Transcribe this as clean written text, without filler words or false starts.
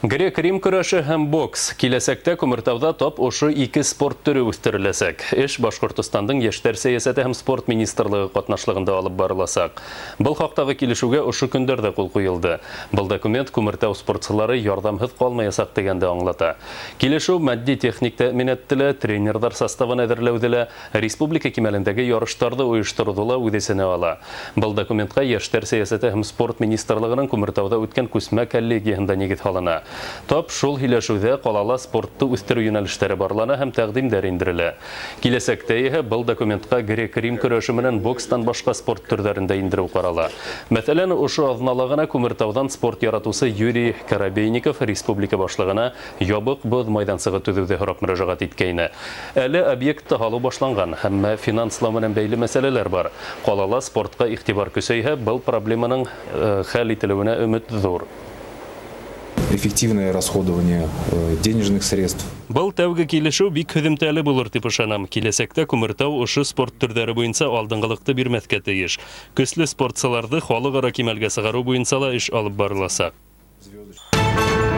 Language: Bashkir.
Грек-рим көрәше һәм бокс. Киләсәктә Күмертауҙа тап ошо ике спорт төрө үҫтереләсәк. Эш Башҡортостандың Йәштәр сәйәсәте һәм спорт министрлығы ҡатнашлығында алып барыласаҡ. Был хаҡтағы килешеүгә ошо көндәрҙә ҡул ҡуйылды. Был документ Күмертау спортсылары ярҙамһыҙ ҡалмаясаҡ тигәнде аңлата. Килешеү матди-техник тәьминатты ла, тренерҙар составын әҙерләүҙе лә, республика кимәлендәге ярыштарҙы ойоштороуҙы ла үҙ эсенә ала. Был документҡа Йәштәр сәйәсәте һәм спорт министрлығының Күмертауҙа үткән күсмә коллегияһында нигеҙ һалына. Тап шул һөйләшеүҙә ҡалала спортты үҫтереү йүнәлештәре барлана һәм тәҡдимдәр индерелә. Киләсәктә иһә был документҡа грек-рим көрәше менән бокстан башҡа спорт төрҙәрен дә индереү ҡарала. Мәҫәлән, ошо аҙнала ғына Күмертауҙан спорт яратыусы Юрий Коробейников республика башлығына ябыҡ боҙ майҙансығы төҙөүҙе һорап мөрәжәғәт иткәйне. Әле объектты һалыу башланған, әммә финанслау менән бәйле мәсьәләләр бар. Ҡалала спортҡа иғтибар көсәйһә, был проблеманың хәл ителеүенә өмөт ҙур. Эффективное расходование денежных средств. Был тәүге килешеү бик һөҙөмтәле булыр тип ышанам. Киләсәктә Күмертау ошо спорт төрҙәре буйынса алдынғылыҡты бирмәҫкә тейеш. Көслө спортсыларҙы халыҡ-ара кимәлгә сығарыу буйынса ла эш алып барыласаҡ. Звездочка.